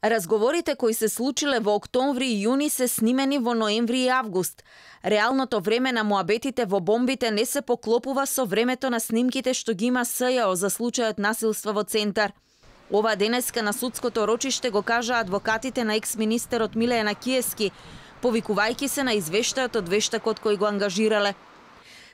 Разговорите кои се случиле во октомври и јуни се снимени во ноември и август. Реалното време на муабетите во бомбите не се поклопува со времето на снимките што ги има СЈО за случајот насилство во Центар. Ова денеска на судското рочиште го кажа адвокатите на екс-министерот Миле Јанакиевски, повикувајќи се на извештајот од вештакот кој го ангажирале.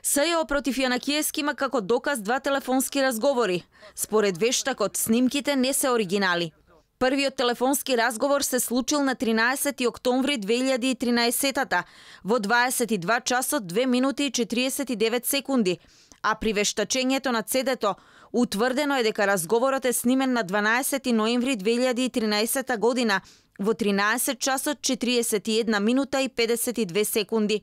СЈО против Јанакиевски има како доказ 2 телефонски разговори. Според вештакот, снимките не се оригинали. Првиот телефонски разговор се случил на 13 октомври 2013 во 22 часот 2 минути и 49 секунди, а при вештачењето на CD-то утврдено е дека разговорот е снимен на 12 ноември 2013 година во 13 часот 41 минута и 52 секунди.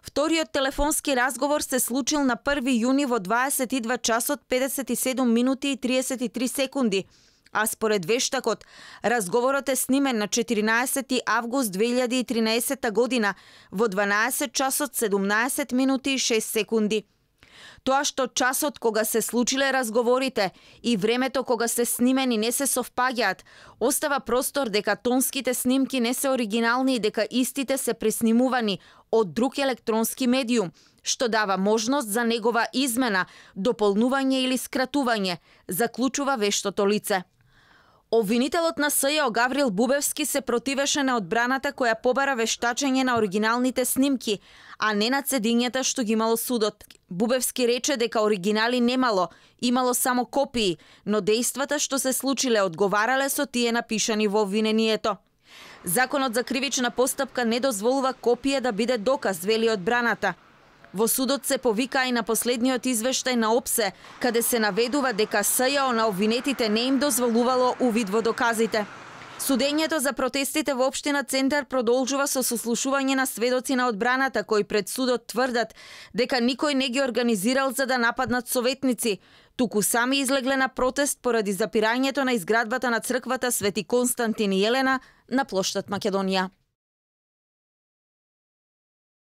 Вториот телефонски разговор се случил на 1 јуни во 22 часот 57 минути и 33 секунди, а според вештакот, разговорот е снимен на 14 август 2013 година во 12 часот 17 минути и 6 секунди. Тоа што часот кога се случиле разговорите и времето кога се снимени не се совпаѓаат, остава простор дека тонските снимки не се оригинални и дека истите се преснимувани од друг електронски медиум, што дава можност за негова измена, дополнување или скратување, заклучува вештото лице. Обвинителот на СЈО Гаврил Бубевски се противеше на одбраната која побара вештачење на оригиналните снимки, а не на цедињата што ги имало судот. Бубевски рече дека оригинали немало, имало само копии, но дејствата што се случиле одговарале со тие напишани во обвинението. Законот за кривична постапка не дозволува копија да биде доказ, вели одбраната. Во судот се повика и на последниот извештај на ОПСЕ, каде се наведува дека СЈО на обвинетите не им дозволувало увид во доказите. Судењето за протестите во општина Центар продолжува со сослушување на сведоци на одбраната кои пред судот тврдат дека никој не ги организирал за да нападнат советници, туку сами излегле на протест поради запирањето на изградбата на црквата Свети Константин и Елена на плоштад Македонија.